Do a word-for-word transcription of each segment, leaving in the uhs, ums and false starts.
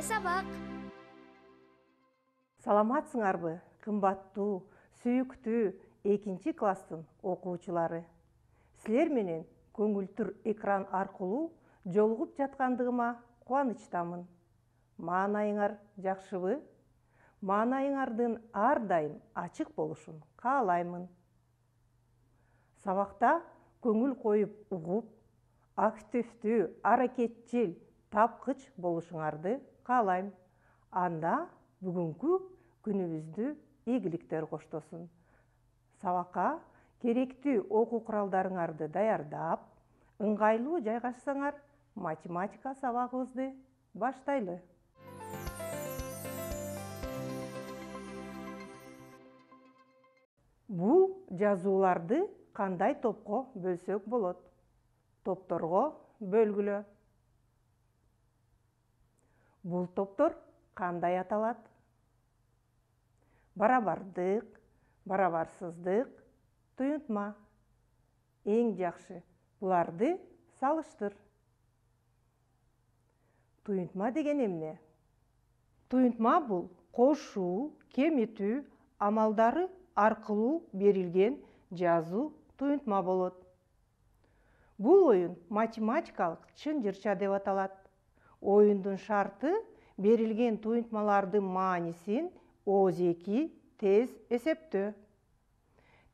Келе сабак. Саламатсыңарбы, кымбаттуу, сүйүктүү экинчи класстын окуучулары. Силер менен көңүлтүр экран аркылуу жолугуп жаткандыгыма кубанычтамын. Маанайыңар жакшыбы? Маанайыңардын ар дайым ачык болушун каалаймын. Сабакта көңүл коюп угуп, активдүү, аракетчил, тапкыч болушуңарды каалайм. Анда бүгүнкү күнүбүздү ийгиликтер коштосун. Сабакка керектүү окуу куралдарыңарды даярдап, ыңгайлуу жайгашсаңар, математика сабагыбызды баштайлы. Бул жазууларды кандай топко бөлсөк болот? Топторго бөлгүлө. Бул топтор кандай аталат? Барабардык, барабарсыздык, туюнтма. Эң жакшы буларды салыштыр. Туюнтма деген эмне? Туюнтма бул кошуу, кемитүү амалдары аркылуу берилген жазуу туюнтма болот. Бул оюн математикалык чынжырча деп аталат. Оюндун шарты берилген туюнтмалардын маанисин ооз-эки тез эсептөө.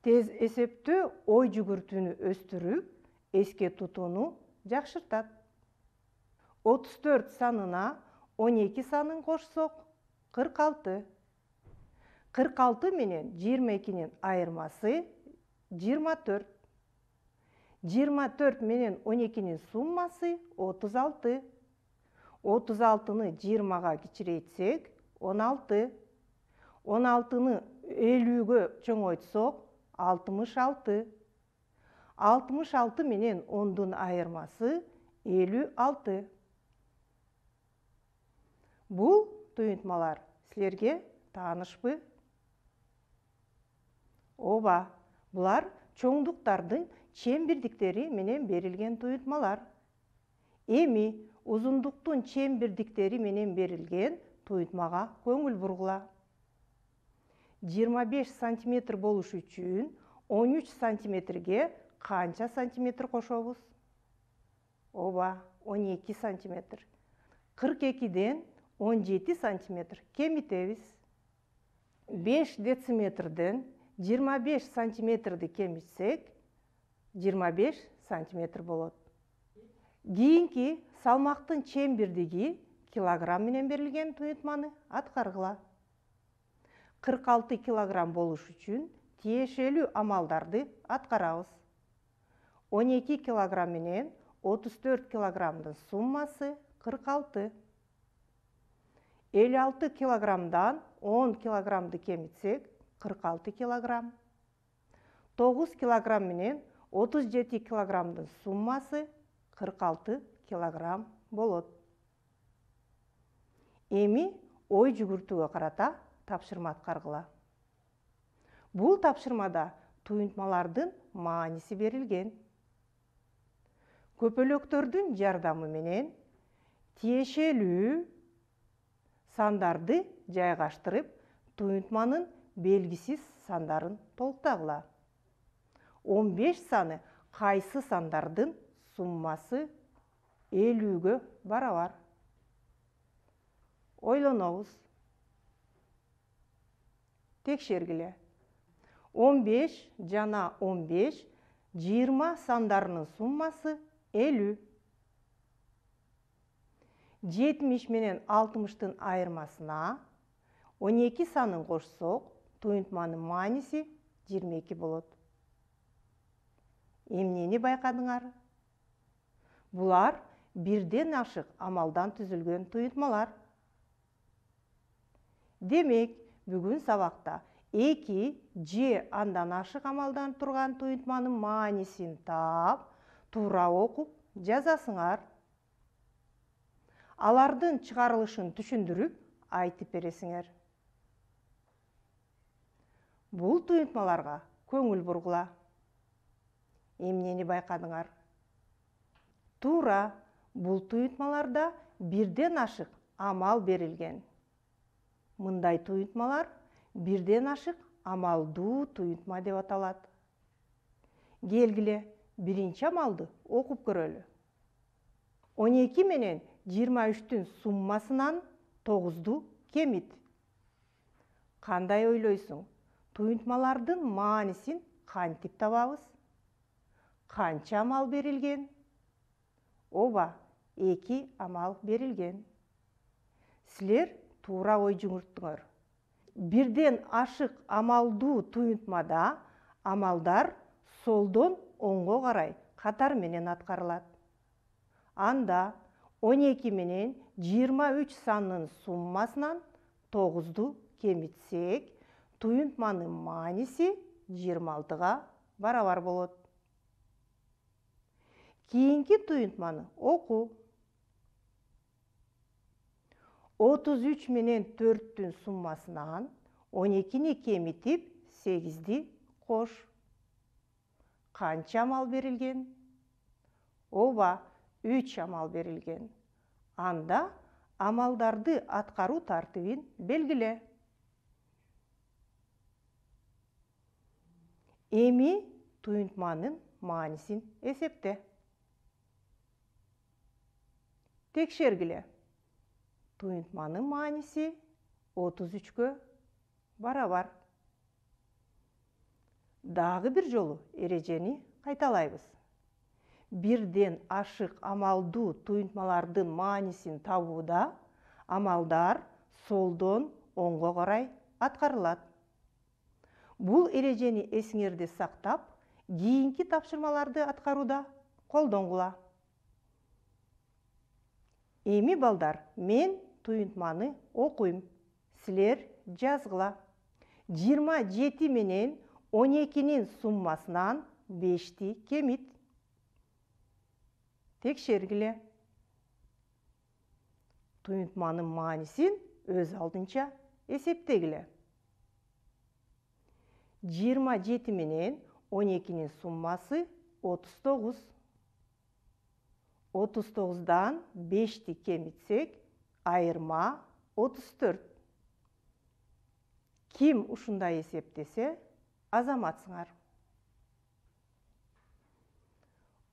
Тез эсептөө ой жүгүртүүнү өстүрүп, эске тутууну жакшыртат. отуз төрт санына он эки санын кошсок, кырк алты. кырк алты менен жыйырма экинин айырмасы жыйырма төрт. жыйырма төрт менен он экинин суммасы отуз алты. отуз алтыны жыйырмага кичирейтсек, он алты. он алтыны элүүгө чоңойтсок, алтымыш алты. алтымыш алты менен ондун айырмасы элүү алты. Бул туюнтмалар силерге таанышпы? Ооба, булар чоңдуктардын чембирдиктери менен берилген туюнтмалар. Эми узундуктун чембирдиктери менен берилген туюнтмага көңүл бургула. жыйырма беш сантиметр болуш үчүн он үч сантиметрге канча сантиметр кошобуз? Ооба, он эки сантиметр. кырк экиден он жети сантиметр кемитебиз. беш дециметрден жыйырма беш сантиметрди кемитсек, жыйырма беш сантиметр болот. Кийинки салмактын чембирдиги килограмм менен берилген туюнтманы аткаргыла. кырк алты килограмм болуш үчүн тиешелүү амалдарды аткарабыз. он эки килограмм менен отуз төрт килограммдын суммасы кырк алты. элүү алты килограммдан он килограммды кемитсек, кырк алты килограмм. тогуз килограмм менен отуз жети килограммдын суммасы кырк алты килограмм болот. Эми ой жүгүртүүгө карата тапшырма аткаргыла. Бул тапшырмада туюнтмалардын мааниси берилген. Көпөлөктөрдүн жардамы менен тиешелүү сандарды жайгаштырып, туюнтманын белгисиз сандарын толуктагыла. он беш саны кайсы сандардын суммасы элүүгө барабар? Ойлонобуз. Текшергиле. он беш жана он беш жыйырма сандарынын суммасы элүү. жетимиш менен алтымыштын айырмасына он эки санын кошсок, туюнтманын мааниси жыйырма эки болот. Эмнени байкадыңар? Булар бирден ашык амалдан түзүлгөн туюнтмалар. Демек, бүгүн сабакта эки же андан ашык амалдан турган туюнтманын маанисин таап, туура окуп жазасыңар. Алардын чыгарылышын түшүндүрүп айтып бересиңер. Бул туюнтмаларга көңүл бургула. Эмнени байкадыңар? Туура, бул туюнтмаларда бирден ашык амал берилген. Мындай туюнтмалар бирден ашык амалдуу туюнтма деп аталат. Келгиле, биринчи амалды окуп көрөлү. он эки менен жыйырма үчтүн суммасынан тогузду кемит. Кандай ойлойсуң? Туюнтмалардын маанисин кантип табабыз? Канча амал берилген? Ооба, эки амал берилген. Силер туура ой жүгүрттүңөр. Бирден ашык амалдуу туюнтмада амалдар солдон оңго карай катар менен аткарылат. Анда он эки менен жыйырма үч санынын суммасынан тогузду кемитсек, туюнтманын мааниси жыйырма алтыга барабар болот. Кийинки туюнтманы оку. отуз үч менен төрттүн суммасынан он экини кемитип, сегизди кош. Канча амал берилген? Ооба, үч амал берилген. Анда амалдарды аткаруу тартибин белгиле. Эми туюнтманын маанисин эсепте. Текшергиле. Туюнтманын мааниси отуз үчкө барабар. Дагы бир жолу эрежени кайталайбыз. Бирден ашык амалдуу туюнтмалардын маанисин табууда амалдар солдон оңго карай аткарылат. Бул эрежени эсиңерде сактап, кийинки тапшырмаларды аткарууда колдонгула. Эми балдар, мен туюнтманы окуйм, силер жазгыла. жыйырма жети менен он экинин суммасынан бешти кемит. Текшергиле. Туюнтманын маанисин өз алдынча эсептегиле. жыйырма жети менен он экинин суммасы отуз тогуз. отуз тогуздан бешти кемитсек, айырма отуз төрт. Ким ушундай эсептесе, азаматсыңар.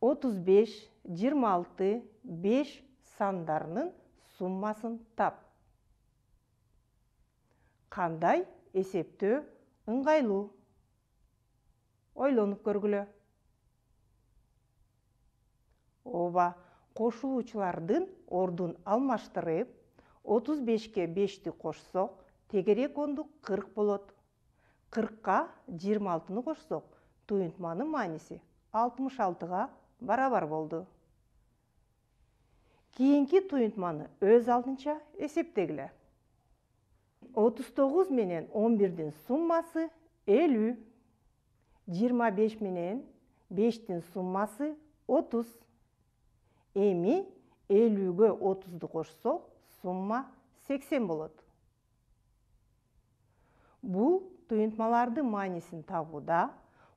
отуз беш, жыйырма алты, беш сандарынын суммасын тап. Кандай эсептөө ыңгайлуу? Ойлонуп көргүлө. Ооба, кошулуучулардын ордун алмаштырып, отуз бешке бешти кошсок, тегерек ондук кырк болот. кыркка жыйырма алтыны кошсок, туюнтманын мааниси алтымыш алтыга барабар болду. Кийинки туюнтманы өз алдынча эсептегиле. отуз тогуз менен он бирдин суммасы элүү. жыйырма беш менен бештин суммасы отуз. Эми элүүгө отузду кошсок, сумма сексен болот. Бул туюнтмалардын маанисин табууда,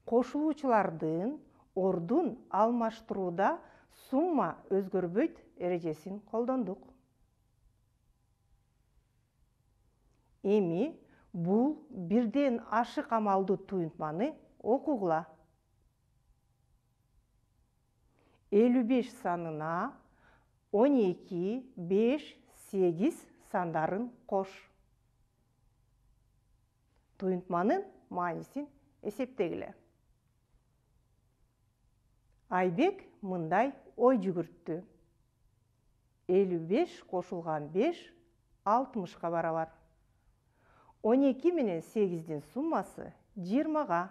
кошулуучулардын ордун алмаштырууда сумма өзгөрбөйт эрежесин колдондук. Эми бул бирден ашык амалдуу туюнтманы окугула. элүү беш санына он эки, беш, сегиз сандарын кош. Туюнтманын маанисин эсептегиле. Айбек мындай ой жүгүрттү. элүү беш кошулган беш алтымышка барабар. он эки менен сегиздин суммасы жыйырмага.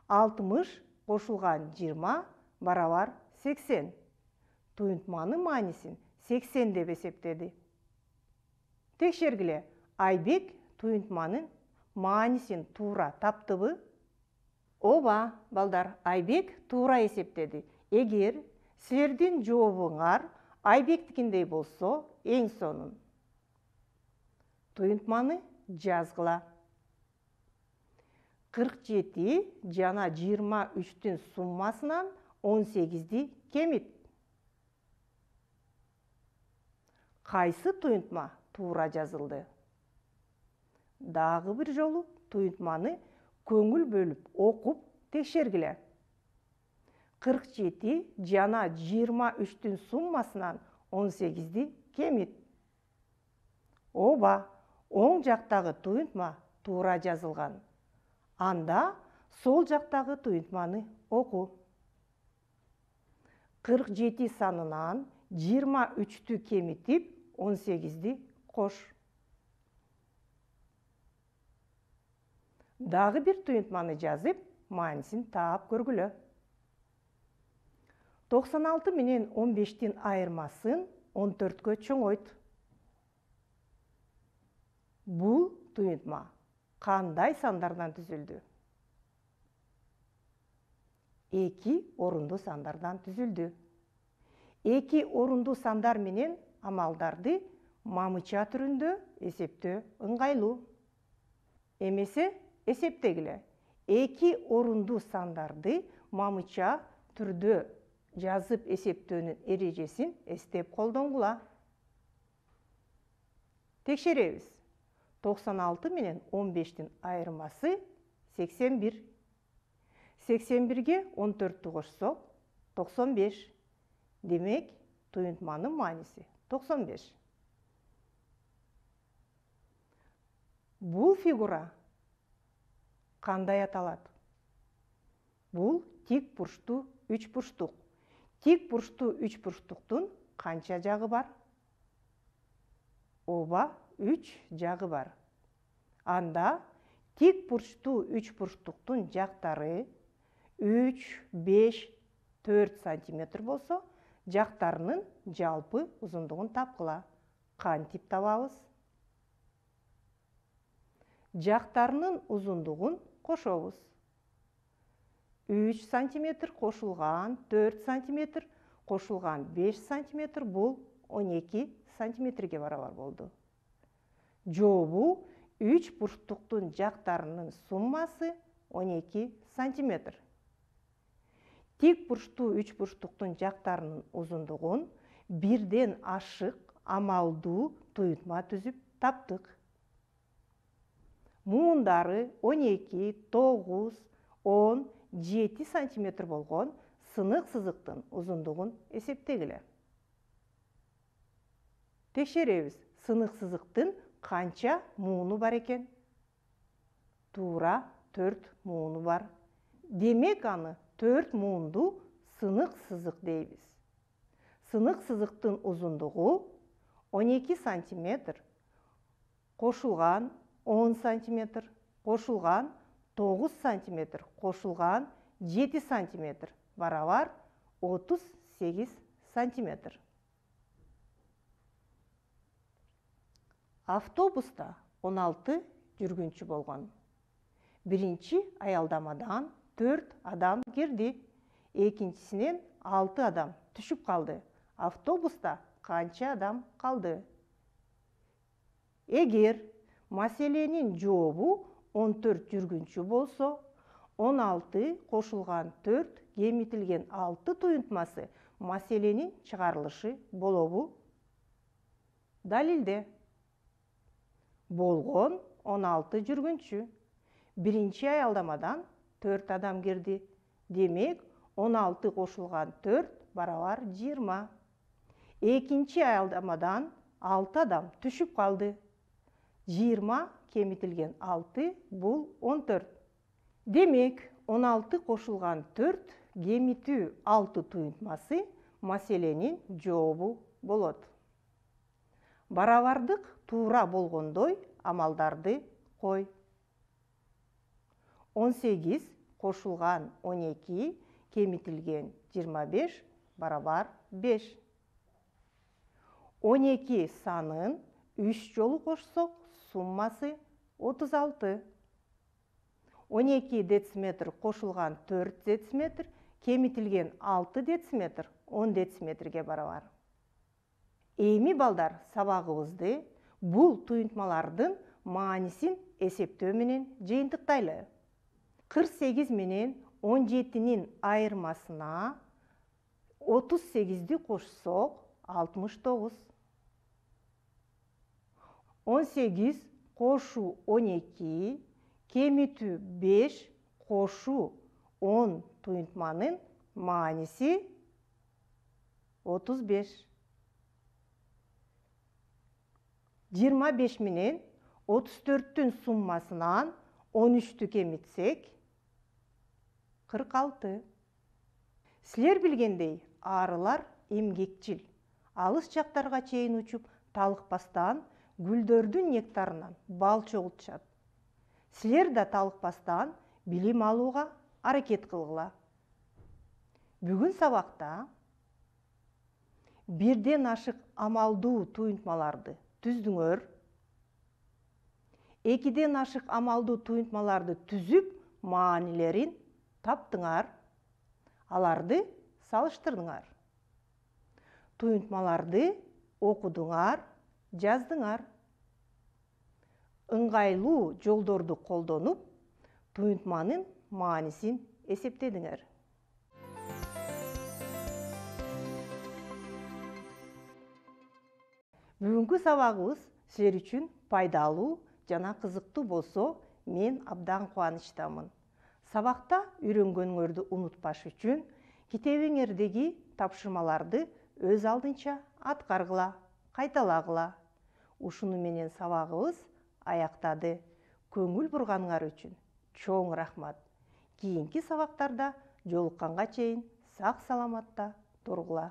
алтымыш кошулган жыйырма барабар сексен. Туюнтманын маанисин сексен деп эсептеди. Текшергиле, Айбек туюнтманын маанисин туура таптыбы? Ооба, балдар, Айбек туура эсептеди. Эгер силердин жообуңар Айбектикиндей болсо, эң сонун. Туюнтманы жазгыла. кырк жети жана жыйырма үчтүн суммасынан он сегизди кемит. Кайсы туюнтма туура жазылды? Дагы бир жолу туюнтманы көңүл бөлүп окуп текшергиле. кырк жети жана жыйырма үчтүн суммасынан он сегизди кемит. Ооба, оң жактагы туюнтма туура жазылган. Анда сол жактагы туюнтманы оку. кырк жети санынан жыйырма үчтү кемитип он сегизди кош. Дагы бир туюнтманы жазып, маанисин таап көргүлө. токсон алты менен он бештин айырмасын он төрткө чоңойт. Бул туюнтма кандай сандардан түзүлдү? Эки орундуу сандардан түзүлдү. Эки орундуу сандар менен амалдарды мамыча түрүндө эсептөө ыңгайлуу. Эмесе эсептегиле. Эки орундуу сандарды мамыча түрдө жазып эсептөөнүн эрежесин эстеп колдонгула. Текшеребиз. токсон алты менен он бештин айырмасы сексен бир. сексен бирге он төрттү кошсок, токсон беш. Демек, туюнтманын мааниси токсон беш. Бул фигура кандай аталат? Бул тик бурчтуу үч бурчтук. Тик бурчтуу үч бурчтуктун канча жагы бар? Ооба, үч жагы бар. Анда тик бурчтуу үч бурчтуктун жактары үч, беш, төрт сантиметр болсо, жактарынын жалпы узундугун тапкыла. Кантип табабыз? Жактарынын узундугун кошобуз. үч сантиметр кошулган төрт сантиметр кошулган беш сантиметр бул он эки сантиметрге барабар болду. Жообу үч бурчтуктун жактарынын суммасы он эки сантиметр. Тик бурчтуу үч бурчтуктун жактарынын узундугун бирден ашык амалдуу туюнтма түзүп таптык. Муундары он эки, тогуз, он, жети сантиметр болгон сынык сызыктын узундугун эсептегиле. Текшеребиз. Сынык сызыктын канча мууну бар экен? Туура төрт мууну бар. Демек, аны төрт муунду сынык сызык дейбиз. Сынык сызыктын узундугу он эки сантиметр, кошулган он сантиметр, кошулган тогуз сантиметр, кошулган жети сантиметр, барабар отуз сегиз сантиметр. Автобуста он алты жүргүнчү болгон. Биринчи аялдамадан төрт адам кирди, экинчисинен алты адам түшүп калды. Автобуста канча адам калды? Эгер маселенин жообу он төрт жүргүнчү болсо, он алты кошулган төрт кемитилген алты туюнтмасы маселенин чыгарылышы болобу? Далилде. Болгон он алты жүргүнчү. Биринчи аялдамадан төрт адам кирди. Демек, он алты кошулган төрт барабар жыйырма. Экинчи аялдамадан алты адам түшүп калды. жыйырма кемитилген алты бул он төрт. Демек, он алты кошулган төрт кемитүү алты туюнтмасы маселенин жообу болот. Барабардык туура болгондой амалдарды кой. он сегиз кошулган он эки кемитилген жыйырма беш барабар беш. он эки санын үч жолу кошсок, суммасы отуз алты. он эки дециметр кошулган төрт дециметр кемитилген алты дециметр он дециметрге барабар. Эми балдар, сабагыбызды бул туюнтмалардын маанисин эсептөө менен жыйынтыктайлы. кырк сегиз менен он жетинин айырмасына отуз сегизди кошсок, алтымыш тогуз. он сегиз кошуу он эки, кемитүү беш кошуу он туюнтманын мааниси отуз беш. жыйырма беш менен отуз төрттүн суммасынан он үчтү кемитсек, кырк алты. Силер билгендей, арылар эмгекчил. Алыс жактарга чейин учуп, талыкпастан гүлдөрдүн нектарынан бал чогултушат. Силер да талыкпастан билим алууга аракет кылгыла. Бүгүн сабакта бирден ашык амалдуу туюнтмаларды түздүңөр. Экиден ашык амалдуу туюнтмаларды түзүп, маанилерин таптыңар. Аларды салыштырдыңар. Туюнтмаларды окудуңар, жаздыңар. Ыңгайлуу жолдорду колдонуп, туюнтманын маанисин эсептедиңер. Бүгүнкү сабагыбыз силер үчүн пайдалуу жана кызыктуу болсо, мен абдан кубанычтамын. Сабакта үйрөнгөнүңөрдү унутпаш үчүн китебиңердеги тапшырмаларды өз алдынча аткаргыла, кайталагыла. Ушуну менен сабагыбыз аяктады. Көңүл бурганыңар үчүн чоң рахмат. Кийинки сабактарда жолукканга чейин сак саламатта тургула.